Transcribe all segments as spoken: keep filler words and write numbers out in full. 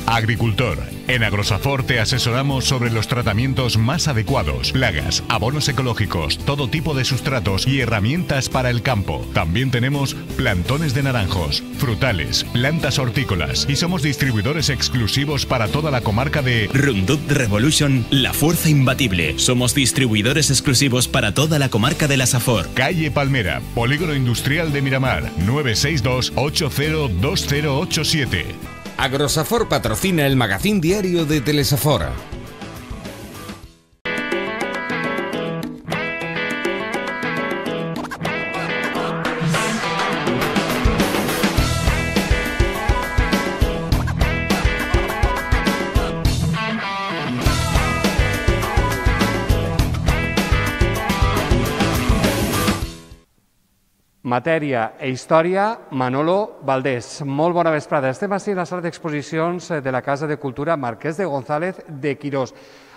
Agricultor. En Agrosafor te asesoramos sobre los tratamientos más adecuados, plagas, abonos ecológicos, todo tipo de sustratos y herramientas para el campo. También tenemos plantones de naranjos, frutales, plantas hortícolas y somos distribuidores exclusivos para toda la comarca de Roundup Revolution, la fuerza imbatible. Somos distribuidores exclusivos para toda la comarca de la Safor. Calle Palmera, Polígono Industrial de Miramar, nueve seis dos, ocho cero dos cero ocho siete. Agrosafor patrocina el magazín diario de Telesafora. Matèria e història, Manolo Valdés. Molt bona vesprada. Estem així a la sala d'exposicions de la Casa de Cultura Marquès de González de Quirós.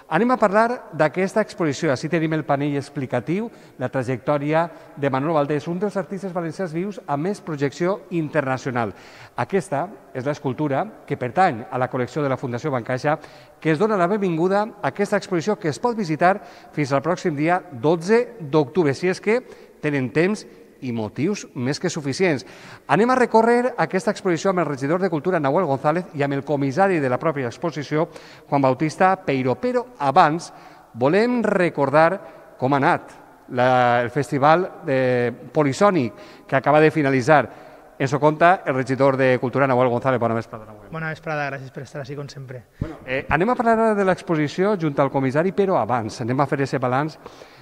Anem a parlar d'aquesta exposició. Així tenim el panell explicatiu, la trajectòria de Manolo Valdés, un dels artistes valencians vius amb més projecció internacional. Aquesta és l'escultura que pertany a la col·lecció de la Fundació Bancaixa, que es dona la benvinguda a aquesta exposició que es pot visitar fins al pròxim dia dotze d'octubre, si és que tenen temps i motius més que suficients. Anem a recórrer aquesta exposició amb el regidor de Cultura, Nahuel González, i amb el comissari de la pròpia exposició, Juan Bautista Peiró. Però abans volem recordar com ha anat la, el festival de Polisònic que acaba de finalitzar. Ens ho conta el regidor de Cultura, Nahuel González. Bona vesprada, Nahuel. Bona vesprada, gràcies per estar així com sempre. Bueno, eh, anem a parlar de l'exposició junt al comissari, però abans anem a fer aquest balanç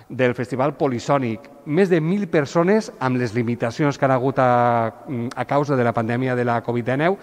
del Festival Polisònic. Més de mil persones amb les limitacions que han hagut a, a causa de la pandèmia de la Covid dinou,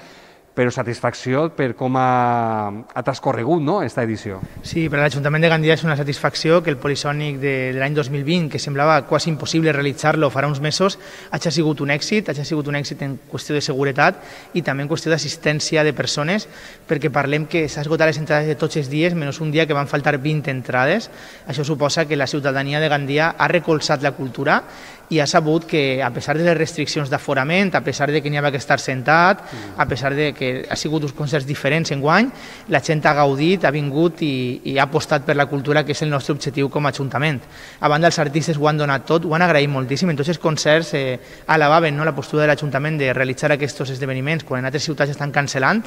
però satisfacció per com ha, ha transcorregut, no?, aquesta edició. Sí, per a l'Ajuntament de Gandia és una satisfacció que el Polisònic de, de l'any dos mil vint, que semblava quasi impossible realitzar-lo farà uns mesos, hagi sigut un èxit, hagi sigut un èxit en qüestió de seguretat i també en qüestió d'assistència de persones, perquè parlem que s'ha esgotat les entrades de tots els dies, menys un dia que van faltar vint entrades. Això suposa que la ciutadania de Gandia ha recolzat la cultura i ha sabut que, a pesar de les restriccions d'aforament, a pesar de que n'hi havia que estar sentat, a pesar de que ha sigut uns concerts diferents enguany, la gent ha gaudit, ha vingut i, i ha apostat per la cultura, que és el nostre objectiu com a Ajuntament. A banda, els artistes ho han donat tot, ho han agraït moltíssim. En tots els concerts eh, alabaven, no?, la postura de l'Ajuntament de realitzar aquests esdeveniments quan en altres ciutats estan cancel·lant,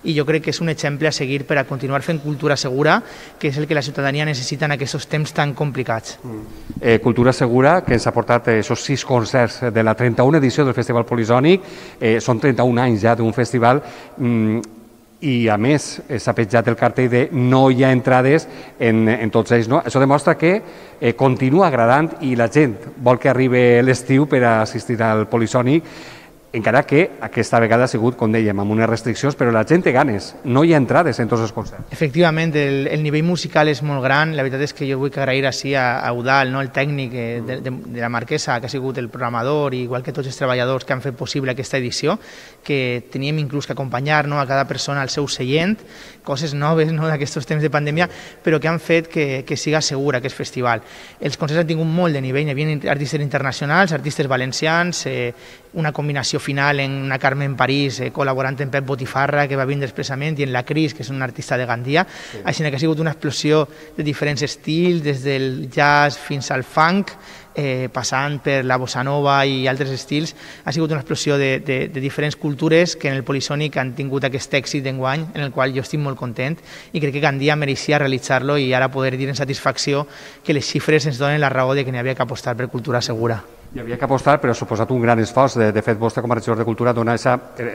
i jo crec que és un exemple a seguir per a continuar fent cultura segura, que és el que la ciutadania necessita en aquests temps tan complicats. Mm. Eh, cultura segura, que ens ha portat eh, aquests sis concerts de la trenta-una edició del Festival Polisònic. Eh, són trenta-un anys ja d'un festival mm, i, a més, s'ha petjat el cartell de no hi ha entrades en, en tots ells. No? Això demostra que eh, continua agradant i la gent vol que arribi l'estiu per a assistir al Polisònic, encara que aquesta vegada ha sigut, com dèiem, amb unes restriccions, però la gent té ganes, no hi ha entrades en tots els concerts. Efectivament, el, el nivell musical és molt gran. La veritat és que jo vull agrair així a, a Eudal, no?, el tècnic de, de, de la Marquesa, que ha sigut el programador, igual que tots els treballadors que han fet possible aquesta edició, que teníem inclús que acompanyar, no?, a cada persona al seu seient, coses noves, no?, d'aquests temps de pandèmia, però que han fet que, que siga segura aquest festival. Els concerts han tingut molt de nivell, hi havia artistes internacionals, artistes valencians, eh, una combinació final en una Carmen París eh, col·laborant amb Pep Botifarra, que va vindre expressament, i en la Cris, que és una artista de Gandia. Sí. Així que ha sigut una explosió de diferents estils, des del jazz fins al funk, eh, passant per la bossa nova i altres estils. Ha sigut una explosió de, de, de diferents cultures que en el Polisònic han tingut aquest èxit d'enguany, en el qual jo estic molt content, i crec que Gandia mereixia realitzar-lo i ara poder dir en satisfacció que les xifres ens donen la raó de que n'hi havia que apostar per cultura segura. Hi havia que apostar, però ha suposat un gran esforç. De, de fet, vostè, com a regidor de Cultura, dona,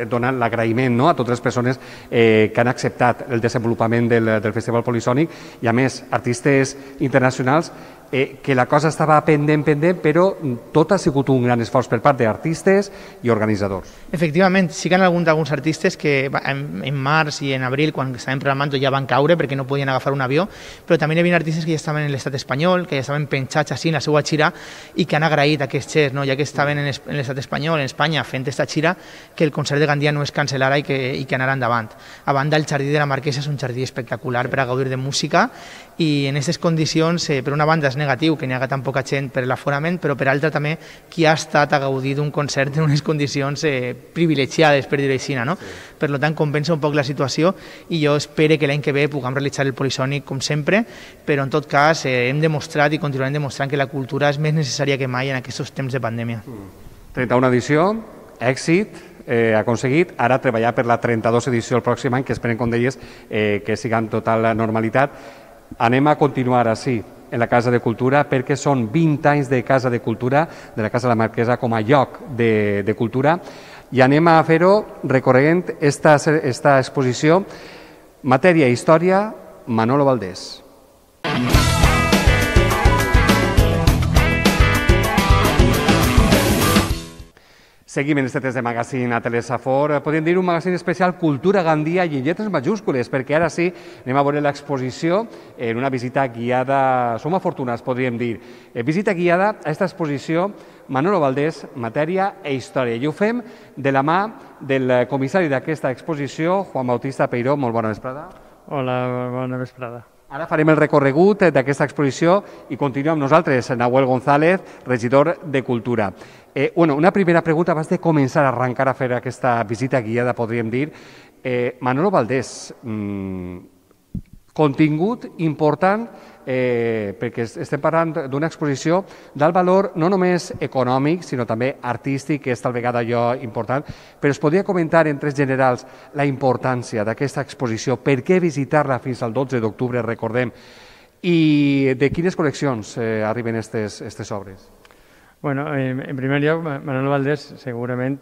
dona l'agraïment, no?, a totes les persones eh, que han acceptat el desenvolupament del, del Festival Polisònic, i, a més, artistes internacionals, eh, que la cosa estava pendent, pendent, però tot ha sigut un gran esforç per part d'artistes i organitzadors. Efectivament, sí que hi ha alguns, alguns artistes que en, en març i en abril, quan estàvem programant, ja van caure perquè no podien agafar un avió, però també hi havia artistes que ja estaven en l'estat espanyol, que ja estaven penjats així en la seva gira i que han agraït aquest xer, no?, ja que estaven en, en l'estat espanyol, en Espanya, fent aquesta gira, que el concert de Gandia no es cancel·lara i que, i que anara endavant. A banda, el Jardí de la Marquesa és un jardí espectacular per a gaudir de música, i en aquestes condicions, eh, per una banda, és negatiu que n'hi haga tan poca gent per l'aforament, però per altra també qui ha estat a gaudir d'un concert en unes condicions eh, privilegiades, per dir-ho així, no? Sí. Per tant, compensa un poc la situació i jo espero que l'any que ve puguem realitzar el Polisònic com sempre, però en tot cas eh, hem demostrat i continuarem demostrant que la cultura és més necessària que mai en aquests temps de pandèmia. trenta-una edició, èxit, Eh, aconseguit, ara treballar per la trenta-dos edició el pròxim any, que esperen, com deies, eh, que siga en total normalitat. Anem a continuar així en la Casa de Cultura perquè són vint anys de Casa de Cultura, de la Casa de la Marquesa com a lloc de, de cultura, i anem a fer-ho recorrent esta, esta exposició Matèria i Història, Manolo Valdés. Seguim en este test de magazín a Telesafor. Podríem dir un magazín especial Cultura Gandia i en lletres majúscules, perquè ara sí anem a veure l'exposició en una visita guiada, som afortunats, podríem dir, visita guiada a aquesta exposició Manolo Valdés, Matèria e Història. I ho fem de la mà del comissari d'aquesta exposició, Juan Bautista Peiró. Molt bona vesprada. Hola, bona vesprada. Ara farem el recorregut d'aquesta exposició i continuem amb nosaltres, Nahuel González, regidor de Cultura. Eh, bueno, una primera pregunta, abans de començar a arrencar a fer aquesta visita guiada, podríem dir. Eh, Manolo Valdés, mmm, contingut important, eh, perquè estem parlant d'una exposició d'alt valor no només econòmic, sinó també artístic, que és tal vegada allò important, però es podria comentar en tres generals la importància d'aquesta exposició, per què visitar-la fins al dotze d'octubre, recordem, i de quines col·leccions eh, arriben aquestes obres? Bueno, en, en primer lloc, Manolo Valdés, segurament,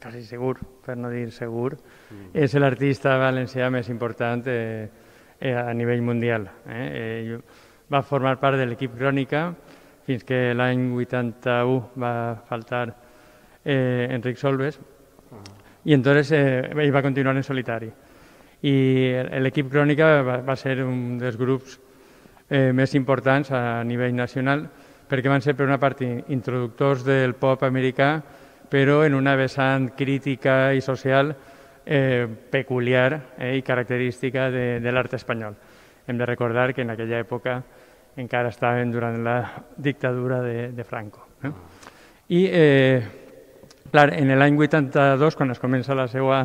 quasi segur, per no dir segur, mm. és l'artista valencià més important eh, eh, a nivell mundial. Eh? Eh, va formar part de l'equip Crònica fins que l'any vuitanta-u va faltar eh, Enric Solves i entonces eh, ell va continuar en solitari. I l'equip Crònica va, va ser un dels grups eh, més importants a nivell nacional, perquè van ser per una part introductors del pop americà, però en una vessant crítica i social eh, peculiar eh, i característica de, de l'art espanyol. Hem de recordar que en aquella època encara estaven durant la dictadura de, de Franco. Eh? I, eh, clar, en l'any vuitanta-dos, quan es comença la seva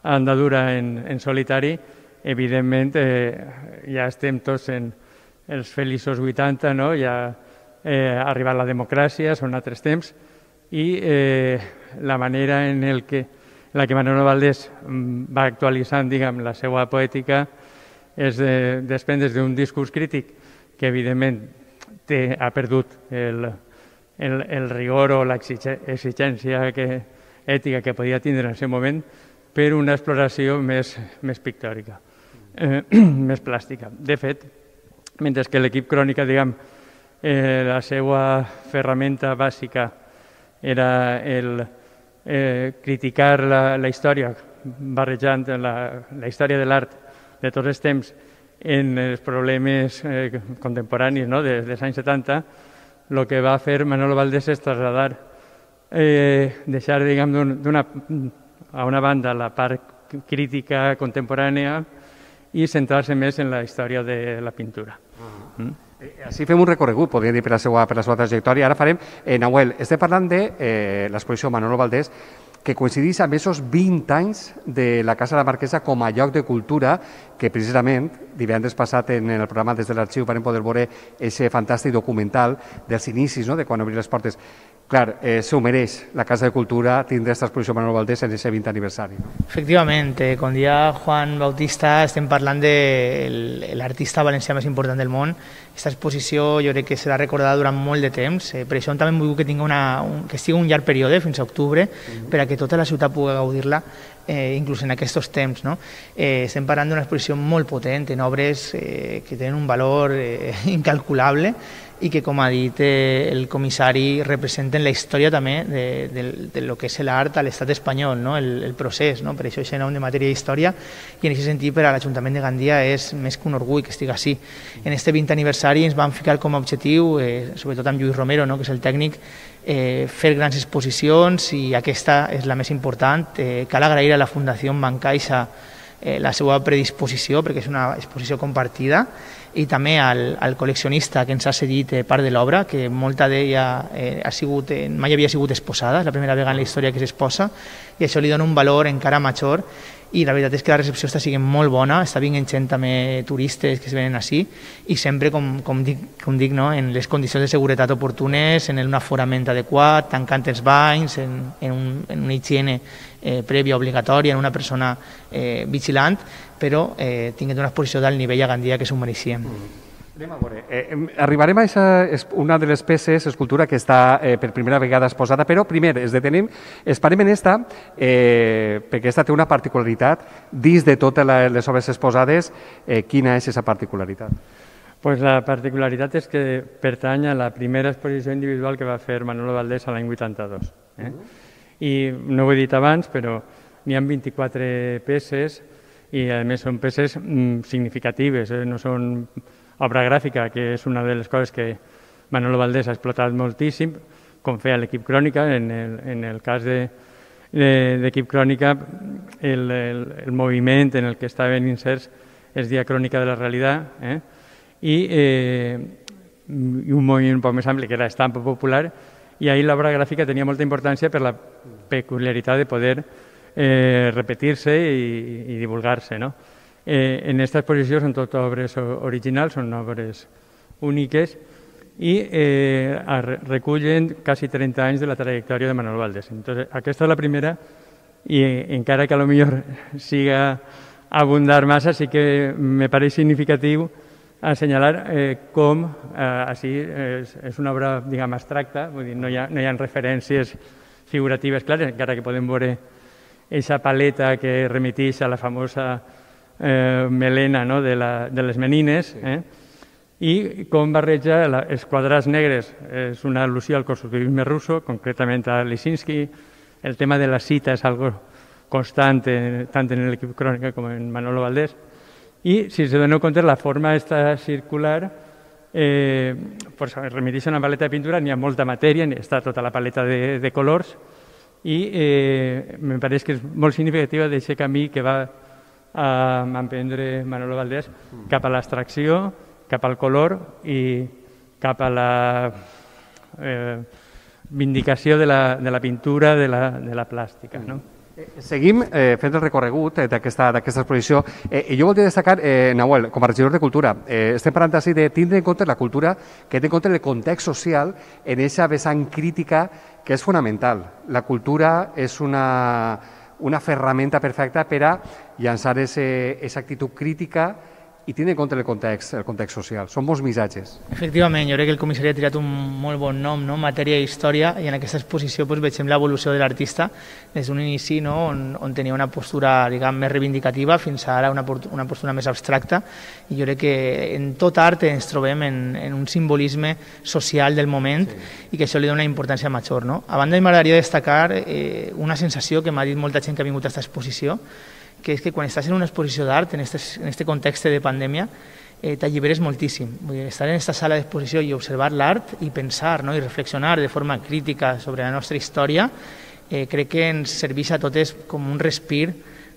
andadura en, en solitari, evidentment eh, ja estem tots en els feliços vuitanta, no? Ja Eh, ha arribat la democràcia, són altres temps, i eh, la manera en el que, la que Manolo Valdés va actualitzant, diguem, la seva poètica és de, desprendre's d'un discurs crític que, evidentment, té, ha perdut el, el, el rigor o l'exigència que, ètica que podia tindre en aquest moment, per una exploració més, més pictòrica, eh, més plàstica. De fet, mentre que l'equip Crònica, diguem, Eh, la seva ferramenta bàsica era el, eh, criticar la, la història, barrejant la, la història de l'art de tots els temps en els problemes eh, contemporanis, no? de, dels anys setanta, el que va fer Manolo Valdés és trasladar, eh, deixar, diguem, d'una, a una banda la part crítica contemporània i centrar-se més en la història de la pintura. Uh-huh. mm? Així fem un recorregut, podríem dir, per la seva, per la seva trajectòria. Ara farem, eh, Nahuel, estem parlant de eh, l'exposició Manolo Valdés, que coincideix amb aquests vint anys de la Casa de la Marquesa com a lloc de cultura, que precisament divendres passat en el programa Des de l'Arxiu vam poder veure aquest fantàstic documental dels inicis, no?, de quan obrir les portes. Clar, eh, s'ho mereix la Casa de Cultura tindre aquesta exposició Manolo Valdés en aquest vint aniversari. No? Efectivament, eh, com dia Juan Bautista, estem parlant de l'artista valencià més important del món. Aquesta exposició jo crec que serà recordada durant molt de temps, eh, per això també vull que tingui una, un, que sigui un llarg període, fins a octubre, mm-hmm. per a que tota la ciutat pugui gaudir-la, eh, inclús en aquests temps. No? Eh, estem parlant d'una exposició molt potent, en obres eh, que tenen un valor eh, incalculable, i que, com ha dit eh, el comissari, representen la història també de, de, de lo que és l'art a l'estat espanyol, no? el, el procés. No? Per això aquest nom de Matèria i Història, i en aquest sentit per a l'Ajuntament de Gandia és més que un orgull que estigui així. En aquest vint aniversari ens vam ficar com a objectiu, eh, sobretot amb Lluís Romero, no? que és el tècnic, eh, fer grans exposicions, i aquesta és la més important. Eh, cal agrair a la Fundació Bancaixa eh, la seva predisposició, perquè és una exposició compartida, i també al, al col·leccionista que ens ha cedit eh, part de l'obra, que molta d'ella eh, ha sigut, eh, mai havia sigut exposada, és la primera vegada en la història que s'exposa, i això li dona un valor encara major, i la veritat és que la recepció està sent molt bona, està vinguent gent també turistes que es venen així, i sempre, com, com dic, com dic no? En les condicions de seguretat oportunes, en un aforament adequat, tancant els banys, en, en, un, en una higiene eh, prèvia obligatòria, en una persona eh, vigilant, però eh, tinguent una exposició d'alt nivell a Gandia que s'ho mereixíem. Mm. Anem a veure. Eh, arribarem a aquesta, una de les peces, escultura, que està eh, per primera vegada exposada, però primer es detenem, esperem en esta, eh, perquè aquesta té una particularitat, dins de totes les obres exposades, eh, quina és aquesta particularitat? Pues la particularitat és que pertany a la primera exposició individual que va fer Manolo Valdés a l'any vuitanta-dos. Eh? I no ho he dit abans, però n'hi ha vint-i-quatre peces i a més són peces mm, significatives, eh? No són obra gràfica, que és una de les coses que Manolo Valdés ha explotat moltíssim, com feia l'equip Crònica. En el, en el cas de, de, d'equip Crònica, el, el, el moviment en el que estaven inserts es deia Crònica de la Realitat, eh? I, eh, i un moviment un poc més ampli, que era Estampa Popular, i ahir l'obra gràfica tenia molta importància per la peculiaritat de poder eh, repetir-se i, i divulgar-se, no? Eh, en aquesta exposició són totes obres originals, són obres úniques i eh, recullen quasi trenta anys de la trajectòria de Manolo Valdés. Entonces, aquesta és la primera i encara que a lo millor siga abundar massa, sí que me pareix significatiu assenyalar eh, com eh, així és, és una obra, diguem, abstracta, vull dir, no hi ha, no hi ha referències figuratives clares, encara que podem veure aquesta paleta que remeteix a la famosa Eh, melena, no? de, la, de les menines, eh? I com barreja la, els quadrats negres. És una al·lusió al constructivisme russo, concretament a Lisinski. El tema de la cita és algo constant, eh, tant en l'equip Crònica com en Manolo Valdés. I, si se doneu compte, la forma està circular, eh, pues, remeteix a una paleta de pintura, n'hi ha molta matèria, està tota la paleta de, de colors, i eh, me pareix que és molt significativa d'aquest camí que va a emprendre Manolo Valdés cap a l'abstracció, cap al color i cap a la eh, vindicació de la, de la pintura, de la, de la plàstica. No? Seguim eh, fent el recorregut eh, d'aquesta exposició. Eh, I jo voldria destacar, eh, Nahuel, com a regidor de Cultura, eh, estem parlant així de tindre en compte la cultura, que té en compte el context social en aquesta vessant crítica que és fonamental. La cultura és una... una ferramenta perfecta per a llançar aquesta actitud crítica i tenir en compte el context, el context social. Són molts missatges. Efectivament, jo crec que el comissari ha triat un molt bon nom, no? Matèria i història, i en aquesta exposició doncs, veiem l'evolució de l'artista des d'un inici, no? on, on tenia una postura, diguem, més reivindicativa fins a ara una, una postura més abstracta, i jo crec que en tot art ens trobem en, en un simbolisme social del moment, sí. I que això li dona una importància major. No? A banda, m'agradaria destacar eh, una sensació que m'ha dit molta gent que ha vingut a aquesta exposició, que és que quan estàs en una exposició d'art, en aquest context de pandèmia, eh, t'alliberes moltíssim. Vull dir, estar en aquesta sala d'exposició i observar l'art i pensar, no? I reflexionar de forma crítica sobre la nostra història, eh, crec que ens serveix a totes com un respir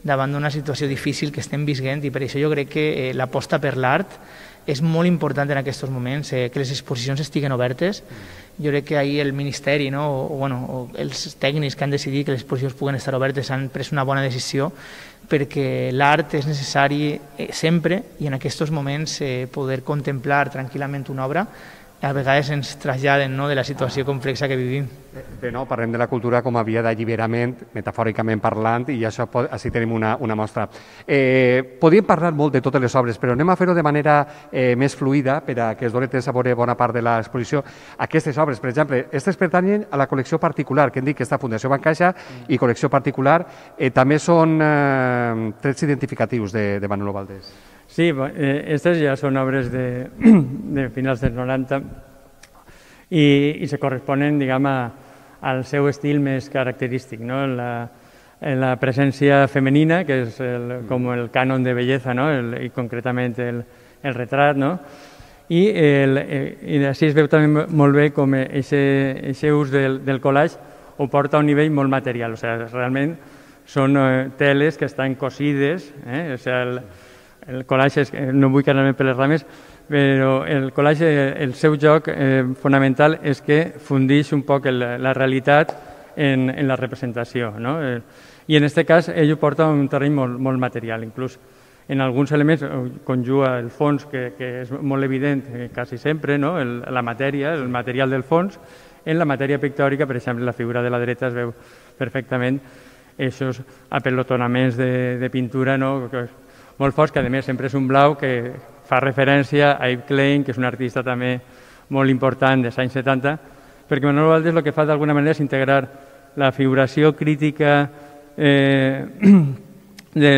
davant d'una situació difícil que estem vivint, i per això jo crec que eh, l'aposta per l'art és molt important en aquests moments, eh, que les exposicions estiguen obertes. Jo crec que ahir el Ministeri, no? o, o, bueno, o els tècnics que han decidit que les exposicions puguen estar obertes han pres una bona decisió, perquè l'art és necessari eh, sempre, i en aquests moments eh, poder contemplar tranquil·lament una obra a vegades ens traslladen, no? De la situació complexa que vivim. Bé, no, parlem de la cultura com a via d'alliberament, metafòricament parlant, i això així tenim una, una mostra. Eh, podríem parlar molt de totes les obres, però anem a fer-ho de manera eh, més fluida per a que es doni temps a veure bona part de l'exposició. Aquestes obres, per exemple, aquestes pertanyen a la col·lecció particular, que hem dit que està Fundació Bancaixa i col·lecció particular, eh, també són eh, trets identificatius de, de Manolo Valdés. Sí, aquestes ja són obres de, de finals dels noranta i, i se corresponen, diguem, a, al seu estil més característic, no? La, la presència femenina, que és el, com el cànon de bellesa, no? El, i concretament el, el retrat, no? I, el, i així es veu també molt bé com aquest ús del, del collage ho porta a un nivell molt material, o sigui, realment són eh, teles que estan cosides, eh? O sigui, el, el collage, és, no vull quedar-me per les rames, però el collage, el seu joc eh, fonamental és que fundix un poc el, la realitat en, en la representació, no? Eh, I en aquest cas ell ho porta a un terreny molt, molt material, inclús en alguns elements conjuga el fons, que, que és molt evident eh, quasi sempre, no? el, la matèria, el material del fons. En la matèria pictòrica, per exemple, la figura de la dreta es veu perfectament aquests apelotonaments de, de pintura, no? Que és molt forts, que a més sempre és un blau que fa referència a Yves Klein, que és un artista també molt important dels anys setanta, perquè Manolo Valdés el que fa d'alguna manera és integrar la figuració crítica eh, de,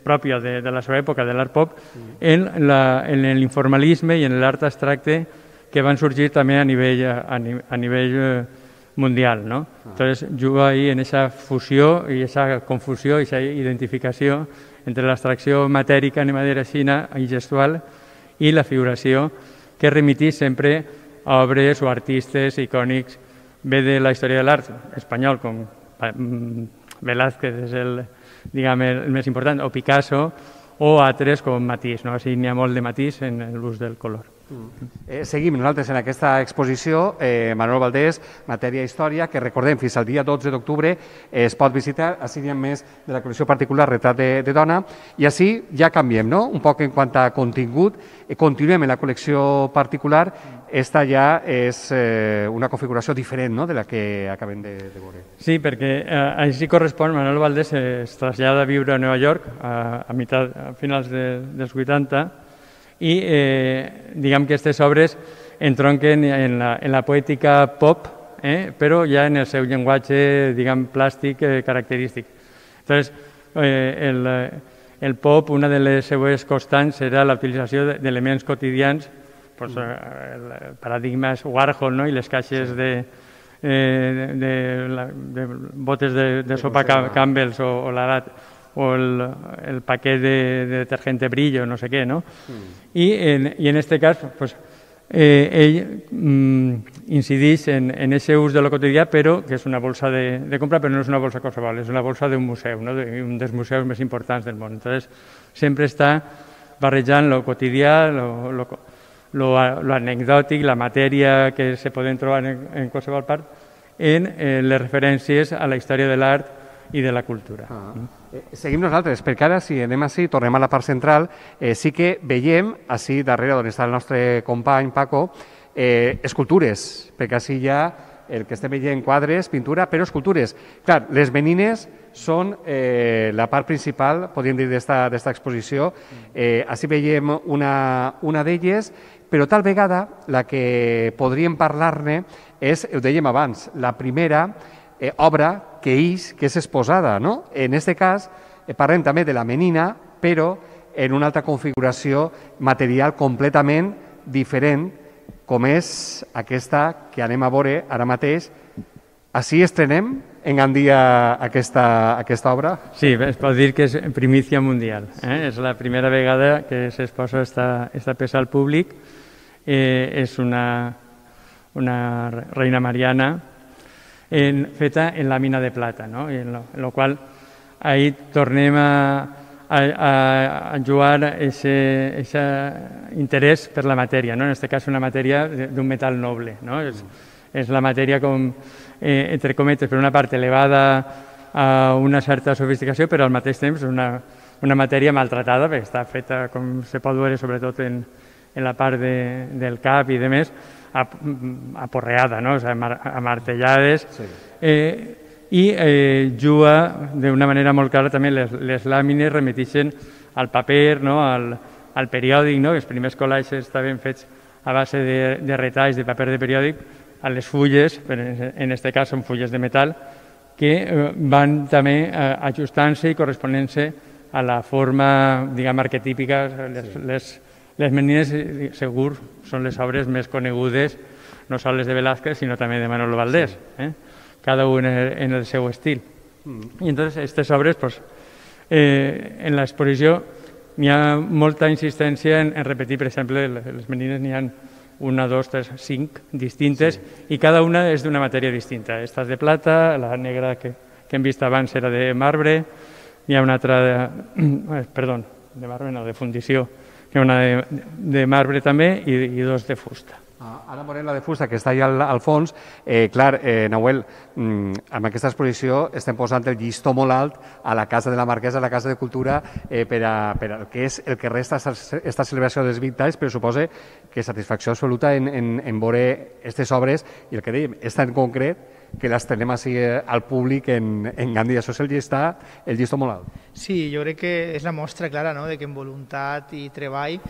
pròpia de, de la seva època, de l'art pop, en l'informalisme i en l'art abstracte que van sorgir també a nivell, a, a nivell eh, mundial, ¿no? Entonces juga ahí en esa fusió i esa confusió i esa identificació entre l'abstracció matèrica, anem a dir així, i gestual, i la figuració que remitís sempre a obres o artistes icònics, bé de la història de l'art espanyol, com Velázquez és el, diguem, el més important, o Picasso, o altres com Matisse, no? Així n'hi ha molt de Matisse en l'ús del color. Eh, seguim nosaltres en aquesta exposició, eh, Manolo Valdés, Matèria i Història, que recordem fins al dia dotze d'octubre eh, es pot visitar, així n'hi ha més de la col·lecció particular Retrat de, de dona, i així ja canviem, no?, un poc en quant a contingut, eh, continuem en la col·lecció particular, esta ja és eh, una configuració diferent, no?, de la que acabem de, de veure. Sí, perquè eh, així correspon, Manolo Valdés es trasllada a viure a Nova York a, a, mitat, a finals de, dels vuitanta, i eh, diguem que aquestes obres entronquen en la, en la poètica pop, eh, però ja en el seu llenguatge, diguem, plàstic eh, característic. Entonces, eh, el, el pop, una de les seues constants era la utilització d'elements quotidians, pues, eh, el paradigma és Warhol, no?, i les caixes de, eh, de, de, de botes de, de sopa Campbell's o, o la o el, el paquet de, de detergente Brillo, no sé què, no? Mm. I en, i en este cas, pues, eh, ell mm, incideix en aquest ús de lo quotidià, però que és una bolsa de, de compra, però no és una bolsa qualsevol, és una bolsa d'un museu, no? De, un dels museus més importants del món. Entonces, sempre està barrejant lo quotidià, lo, lo, lo, lo anecdòtic, la matèria que se poden trobar en, en qualsevol part, en eh, les referències a la història de l'art i de la cultura. Ah. Eh, seguim nosaltres, perquè ara, si anem així, tornem a la part central, eh, sí que veiem, així darrere on està el nostre company Paco, eh, escultures, perquè així hi ha el que estem veient quadres, pintura, però escultures. Clar, les menines són eh, la part principal, podríem dir, d'esta exposició. Eh, així veiem una, una d'elles, però tal vegada la que podríem parlar-ne és, ho dèiem abans, la primera eh, obra que és, que és exposada, no? En aquest cas, eh, parlem també de la menina, però en una altra configuració material completament diferent, com és aquesta que anem a veure ara mateix. Així estrenem en Gandia aquesta, aquesta obra? Sí, es pot dir que és primícia mundial. Eh? És la primera vegada que s'exposa esta, esta peça al públic. Eh, és una, una reina mariana en, feta en làmina de plata, no? I en lo, en lo qual ahí tornem a, a, a jugar aquest interès per la matèria, no? En aquest cas una matèria d'un metall noble, no? És, és la matèria com, eh, entre cometes, per una part elevada a una certa sofisticació, però al mateix temps una, una matèria maltratada, perquè està feta, com se pot veure, sobretot en, en la part de, del cap i de més, aporreada, no? O sigui, amartellades, sí. eh, i eh, juga d'una manera molt clara també les, les làmines remetixen al paper, no? al, al periòdic, no? Els primers collages estaven fets a base de, de retalls de paper de periòdic, a les fulles, en aquest cas són fulles de metall, que eh, van també eh, ajustant-se i corresponent-se a la forma, diguem, arquetípica. Les, sí. les, les menines, segur, són les obres més conegudes, no sols de Velázquez, sinó també de Manolo Valdés, eh? Cada un en el seu estil. Mm. I entonces, aquestes obres, pues, eh, en l'exposició n'hi ha molta insistència en, en repetir, per exemple, les menines n'hi ha una, dos, tres, cinc distintes, sí. I cada una és d'una matèria distinta. Esta és de plata, la negra que, que hem vist abans era de marbre, hi ha una altra, de, perdó, de marbre no, de fundició, que hi ha una de, de marbre també i, i dos de fusta. Ah, ara veurem la de fusta, que està allà al, al fons. Eh, clar, eh, Nahuel, mm, amb aquesta exposició estem posant el llistó molt alt a la Casa de la Marquesa, a la Casa de Cultura, eh, per, a, per a, que és el que resta aquesta celebració dels vint anys, però suposa que satisfacció absoluta en, en, en veure aquestes obres, i el que dèiem, és tan concret que les tenem així eh, al públic en, en Gandia. Això és el llistó, el llistó molt alt. Sí, jo crec que és la mostra clara, no?, de que en voluntat i treball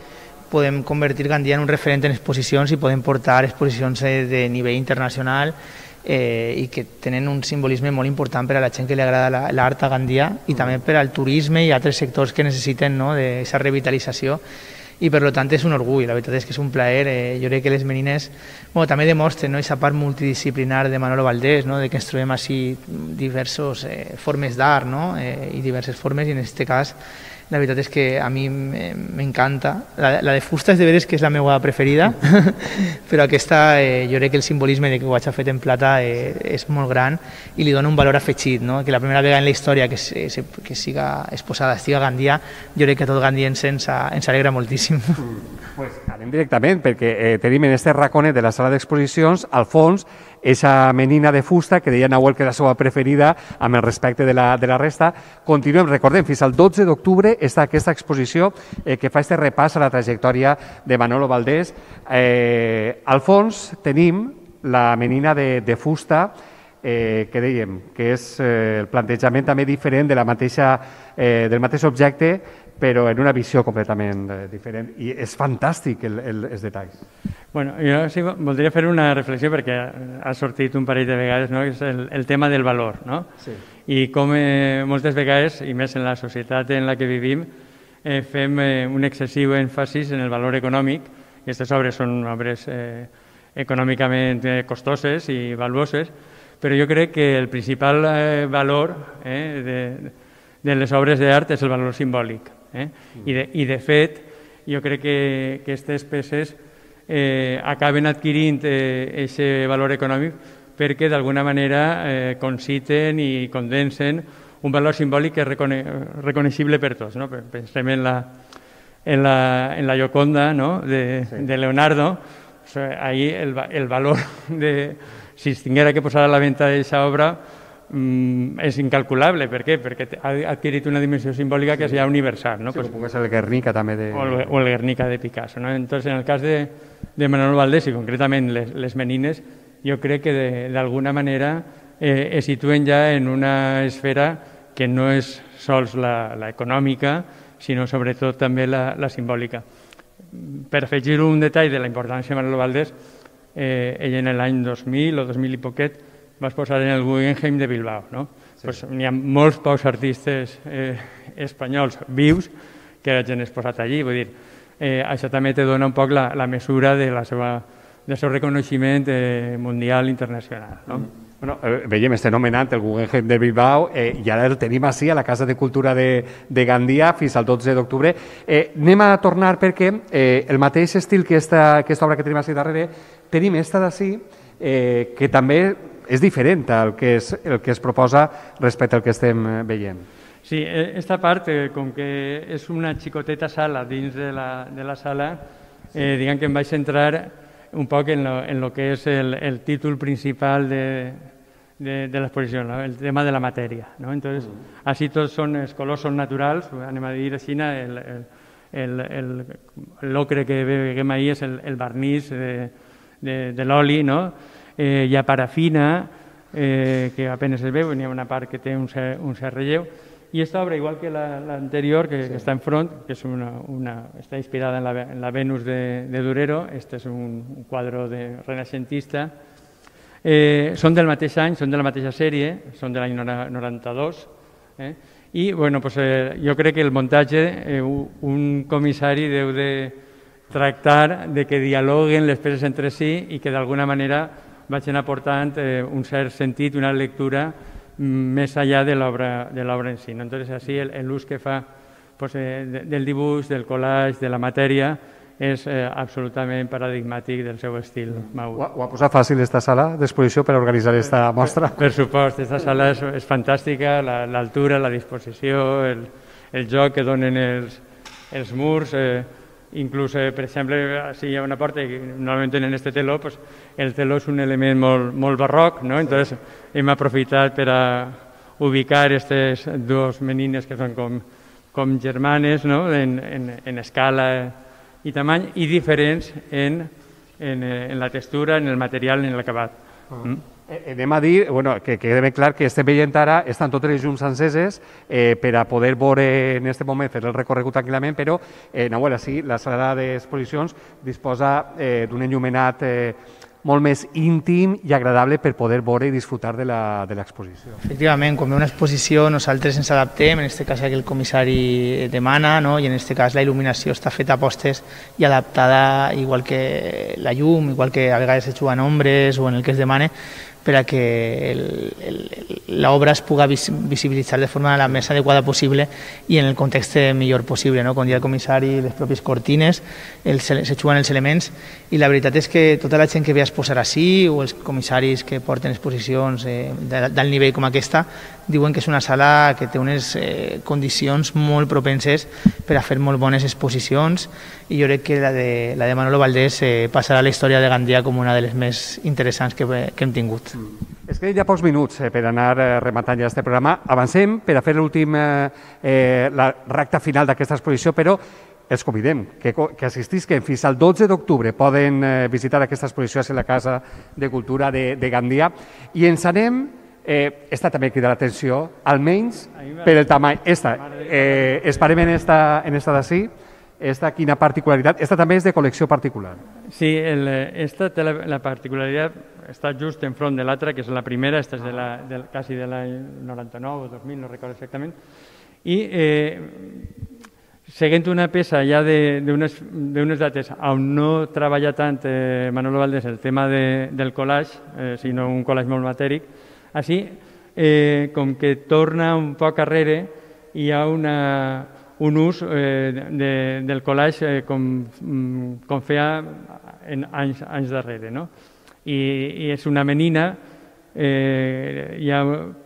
podem convertir Gandia en un referent en exposicions i podem portar exposicions de nivell internacional eh, i que tenen un simbolisme molt important per a la gent que li agrada l'art a Gandia i també per al turisme i altres sectors que necessiten, no?, d'aquesta revitalització. I per tant és un orgull, la veritat és que és un plaer. Eh, jo crec que les menines bueno, també demostren, no?, aquesta part multidisciplinar de Manolo Valdés, no?, de que ens trobem així diverses eh, formes d'art, no?, eh, i diverses formes, i en aquest cas la veritat és que a mi m'encanta. La, la de fusta és de veres que és la meva preferida, però aquesta eh, jo crec que el simbolisme de que ho hagi fet en plata eh, és molt gran i li dona un valor afegit, no?, que la primera vegada en la història que, se, se, que siga exposada estiga a Gandia, jo crec que tot gandiense ens, ens alegra moltíssim. Pues anem directament, perquè eh, tenim en este raconet de la sala d'exposicions, al fons, eixa menina de fusta que deia Nahuel que era la seva preferida amb el respecte de la, de la resta. Continuem, recordem, fins al dotze d'octubre està aquesta exposició eh, que fa este repàs a la trajectòria de Manolo Valdés. Eh, al fons tenim la menina de, de fusta, eh, que dèiem que és eh, el plantejament també diferent de la mateixa, eh, del mateix objecte, però en una visió completament eh, diferent. I és fantàstic el, el, els detalls. Bueno, jo sí voldria fer una reflexió perquè ha sortit un parell de vegades, no?, que és el, el tema del valor, no? Sí. I com eh, moltes vegades, i més en la societat en la que vivim, eh, fem eh, un excessiu èmfasis en el valor econòmic. Aquestes obres són obres eh, econòmicament eh, costoses i valuoses, però jo crec que el principal eh, valor eh, de, de les obres d'art és el valor simbòlic. Eh? I, de, I, de fet, jo crec que, que aquestes peces eh, acaben adquirint aquest eh, valor econòmic perquè d'alguna manera eh, conciten i condensen un valor simbòlic que és recone reconeixible per tots. No? Pensem en la, en la, en la Gioconda, no?, de, sí. de Leonardo. O sigui, ahí el, el valor de... Si es tinguera que posar a la venda d'aquesta obra mm, és incalculable. Per què? Perquè ha adquirit una dimensió simbòlica que és ja universal. No? Sí, pues, com és el Guernica també de... O el, o el Guernica de Picasso. ¿No? Entonces, en el cas de, de Manolo Valdés i concretament les, les menines, jo crec que d'alguna manera eh, es situen ja en una esfera que no és sols la, la econòmica, sinó sobretot també la, la simbòlica. Per afegir un detall de la importància de Manolo Valdés, eh, ell en l'any dos mil o dos mil i poquet va exposar en el Guggenheim de Bilbao. No? Sí. Pues, n'hi ha molts pocs artistes eh, espanyols vius que hagin exposat allí. Vull dir, eh, això també te dona un poc la, la mesura de la seva, del seu reconeixement eh, mundial internacional. No? Mm. Bueno, eh, veiem, estem nomenant el Guggenheim de Bilbao eh, i ara el tenim així a la Casa de Cultura de, de Gandia fins al dotze d'octubre. Eh, anem a tornar perquè eh, el mateix estil que esta, aquesta obra que tenim així darrere, tenim esta d'ací eh, que també és diferent al que es, el que es proposa respecte al que estem veient. Sí, esta part, eh, com que és una xicoteta sala dins de la, de la sala, eh, diguem que em vaig centrar un poc en lo, en lo que és el, el títol principal de, de, de l'exposició, ¿no? El tema de la matèria. ¿No? Entonces, mm. així tots són, els colors són naturals, anem a dir així, el, el, el, l'ocre que veiem ahir és el, el barnís de, de, de l'oli, no? Eh, hi ha parafina, eh, que apenas es veu, n'hi ha una part que té un cert, un cert relleu, i aquesta obra, igual que l'anterior, que, sí. que està en front, que és una, una, està inspirada en la, en la Venus de, de Durero, este és un, un quadre de renaixentista, eh, són del mateix any, són de la mateixa sèrie, són de l'any noranta-dos, eh? I bueno, pues, eh, jo crec que el muntatge, eh, un comissari deu de tractar de que dialoguen les peces entre si i que d'alguna manera vagin aportant eh, un cert sentit, una lectura més allà de l'obra de l'obra en si. ¿No? Entonces, així, l'ús que fa pues, eh, del dibuix, del collage, de la matèria, és eh, absolutament paradigmàtic del seu estil. Ho, ho ha posat fàcil aquesta sala d'exposició per organitzar aquesta mostra? Per, per supost, aquesta sala és, és fantàstica, l'altura, la, la disposició, el, el joc que donen els, els murs, eh, inclús, eh, per exemple, si hi ha una porta i normalment tenen este teló, pues, el teló és un element molt, molt barroc, no? Entonces hem aprofitat per a ubicar aquestes dues menines que són com, com germanes, no? en, en, en escala i tamany, i diferents en, en, en la textura, en el material, en l'acabat. Mm? Anem a dir, bueno, que quede ben clar que estem veient ara, estan totes les llums enceses eh, per a poder veure en aquest moment, fer el recorregut tranquil·lament, però, eh, Nahuel, sí, la sala d'exposicions disposa eh, d'un enllumenat eh, molt més íntim i agradable per poder veure i disfrutar de l'exposició. Efectivament, quan ve una exposició nosaltres ens adaptem, en aquest cas que el comissari demana, no? I en aquest cas la il·luminació està feta a postes i adaptada igual que la llum, igual que a vegades es juguen ombres o en el que es demana, per a que l'obra es pugui visibilitzar de forma la més adequada possible i en el context millor possible. No? Com dia el comissari, les pròpies cortines, els, se juguen els elements, i la veritat és que tota la gent que ve a exposar així, o els comissaris que porten exposicions eh, d'alt nivell com aquesta, diuen que és una sala que té unes eh, condicions molt propenses per a fer molt bones exposicions, i jo crec que la de, la de Manolo Valdés eh, passarà a la història de Gandia com una de les més interessants que, que hem tingut. Mm. És que hi ha pocs minuts eh, per anar eh, rematant ja aquest programa. Avancem per a fer l'últim eh, eh, la recta final d'aquesta exposició, però els convidem que, que assistisquen fins al dotze d'octubre. Poden eh, visitar aquesta exposició a la Casa de Cultura de, de Gandia, i ens anem, eh, esta també crida l'atenció, almenys per el tamany. Esta, eh, esperem en esta, en esta d'ací. Esta, quina particularitat? Esta també és de col·lecció particular. Sí, el, esta té la, la particularitat, està just enfront de l'altra, que és la primera, esta és de la, de, quasi de l'any noranta-nou o dos mil, no recordo exactament, i eh, seguint una peça ja d'unes dates on no treballa tant eh, Manolo Valdés el tema de, del collage, eh, sinó un collage molt matèric, així eh, com que torna un poc arrere, hi ha una... un ús eh, de, del collage eh, com, com feia en anys, anys darrere. No? I, I és una menina, eh, ja,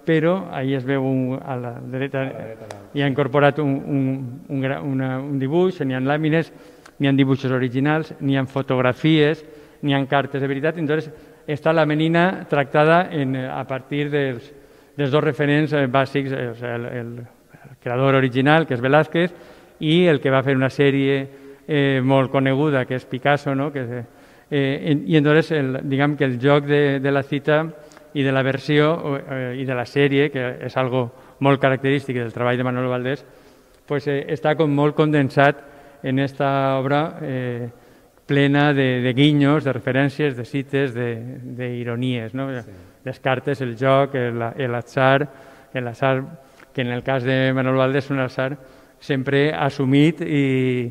però ahí es veu un, a la dreta, hi ha incorporat un, un, un, una, un dibuix, n'hi ha làmines, n'hi ha dibuixos originals, n'hi ha fotografies, n'hi ha cartes de veritat. Entonces, està la menina tractada en, a partir dels, dels dos referents eh, bàsics, eh, o sigui, el, el el creador original, que és Velázquez, i el que va fer una sèrie eh, molt coneguda, que és Picasso, no? que és, eh, i entonces el, diguem que el joc de, de la cita i de la versió eh, i de la sèrie, que és algo molt característic del treball de Manolo Valdés, pues, eh, està com molt condensat en esta obra eh, plena de, de guinyos, de referències, de cites, d'ironies. No? Sí. Les cartes, el joc, l'atzar, l'atzar que en el cas de Manolo Valdés és un atzar sempre assumit i,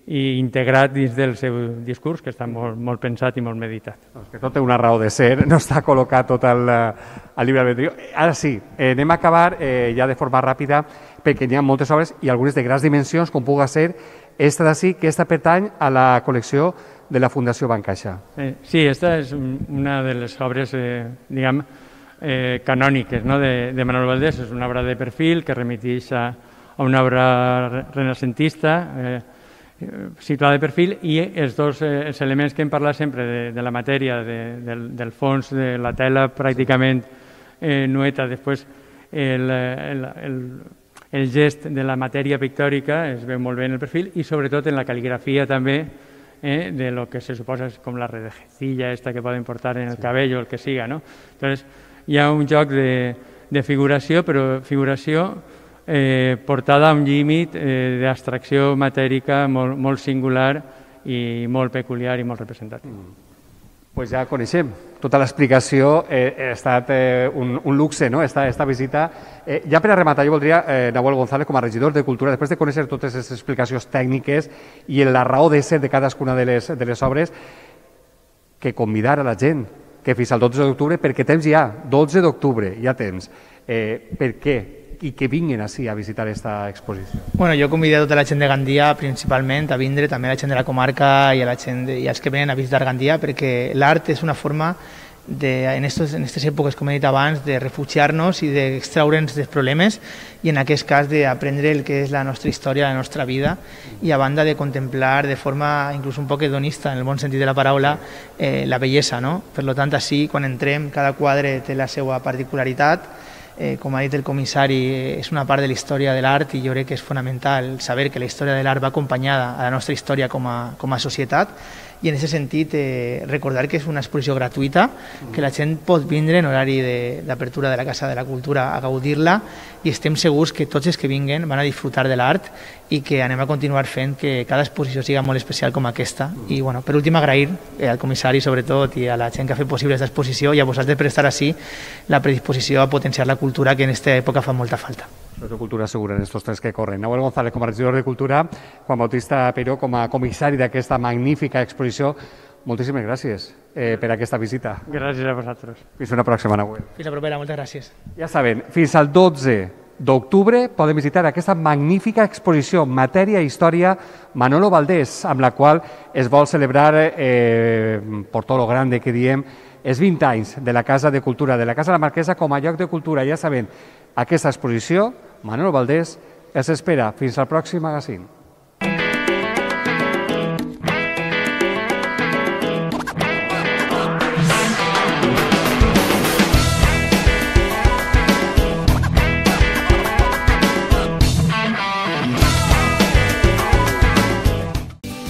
i integrat dins del seu discurs, que està molt, molt pensat i molt meditat. Doncs que tot té una raó de ser, no està col·locat tot al, al llibre albedrío. Ara sí, eh, anem a acabar eh, ja de forma ràpida, perquè hi ha moltes obres i algunes de grans dimensions, com puga ser esta d'ací, que esta pertany a la col·lecció de la Fundació Bancaixa. Eh, sí, esta és una de les obres, eh, diguem, Eh, canòniques, no? de, de Manolo Valdés. És una obra de perfil que remiteix a, a una obra renacentista eh, situada de perfil, i els dos eh, els elements que hem parlat sempre de, de la matèria, de, del, del fons, de la tela pràcticament eh, nueta, després el, el, el, el gest de la matèria pictòrica es veu molt bé en el perfil, i sobretot en la cal·ligrafia també, eh, de lo que se suposa com la redejecilla esta que poden portar en el cabell o el que siga. No? Entonces, hi ha un joc de, de figuració, però figuració eh, portada a un límit eh, d'abstracció matèrica molt, molt singular i molt peculiar i molt representatiu. Mm. Pues ja coneixem tota l'explicació, eh, ha estat eh, un, un luxe, no? esta, esta visita. Eh, ja per a rematar, jo voldria, eh, Nahuel González, com a regidor de Cultura, després de conèixer totes les explicacions tècniques i la raó de ser de cadascuna de les, de les obres, que convidar a la gent que fins al dotze d'octubre, perquè temps hi ha, dotze d'octubre, hi ha temps. Eh, per què? i que vinguin així a visitar aquesta exposició? Bueno, jo convido a tota la gent de Gandia principalment a vindre, també a la gent de la comarca i a la gent de, i als que venen a visitar Gandia, perquè l'art és una forma de, en aquestes en estes èpoques, com he dit abans, de refugiar-nos i d'extraure'ns dels problemes i en aquest cas d'aprendre el que és la nostra història, la nostra vida i a banda de contemplar de forma inclús un poc hedonista, en el bon sentit de la paraula, eh, la bellesa, no? Per tant, així, quan entrem, cada quadre té la seva particularitat. Eh, com ha dit el comissari, és una part de la història de l'art i jo crec que és fonamental saber que la història de l'art va acompanyada a la nostra història com a, com a societat i en aquest sentit eh, recordar que és una exposició gratuïta, que la gent pot vindre en horari d'apertura de, de la Casa de la Cultura a gaudir-la i estem segurs que tots els que vinguen van a disfrutar de l'art i que anem a continuar fent que cada exposició siga molt especial com aquesta. I bueno, per últim agrair eh, al comissari sobretot i a la gent que ha fet possible aquesta exposició i a vosaltres per estar així la predisposició a potenciar la cultura que en aquesta època fa molta falta. De cultura segura en estos tres que corren. Nahuel González com a regidor de Cultura, Juan Bautista Peiró com a comissari d'aquesta magnífica exposició. Moltíssimes gràcies eh, per aquesta visita. Gràcies a vosaltres. Fins una pròxima, Nahuel. Fins la propera, moltes gràcies. Ja saben, fins al dotze d'octubre poden visitar aquesta magnífica exposició Matèria i Història Manolo Valdés, amb la qual es vol celebrar, eh, por todo lo grande que diem, els vint anys de la Casa de Cultura, de la Casa de la Marquesa com a lloc de cultura. Ja saben, aquesta exposició, Manolo Valdés, els espera fins al pròxim magazín.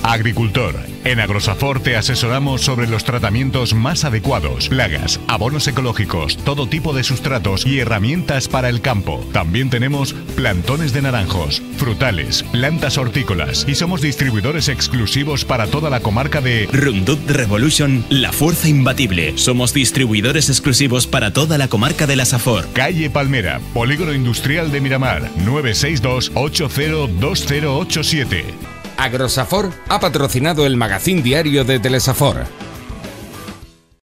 Agricultor. En Agrosafor te asesoramos sobre los tratamientos más adecuados, plagas, abonos ecológicos, todo tipo de sustratos y herramientas para el campo. También tenemos plantones de naranjos, frutales, plantas hortícolas y somos distribuidores exclusivos para toda la comarca de Roundup Revolution, la fuerza imbatible. Somos distribuidores exclusivos para toda la comarca de la Safor. Calle Palmera, Polígono Industrial de Miramar, nueve seis dos, ocho cero dos cero ocho siete. Agrosafor ha patrocinado el magazín diario de Telesafor.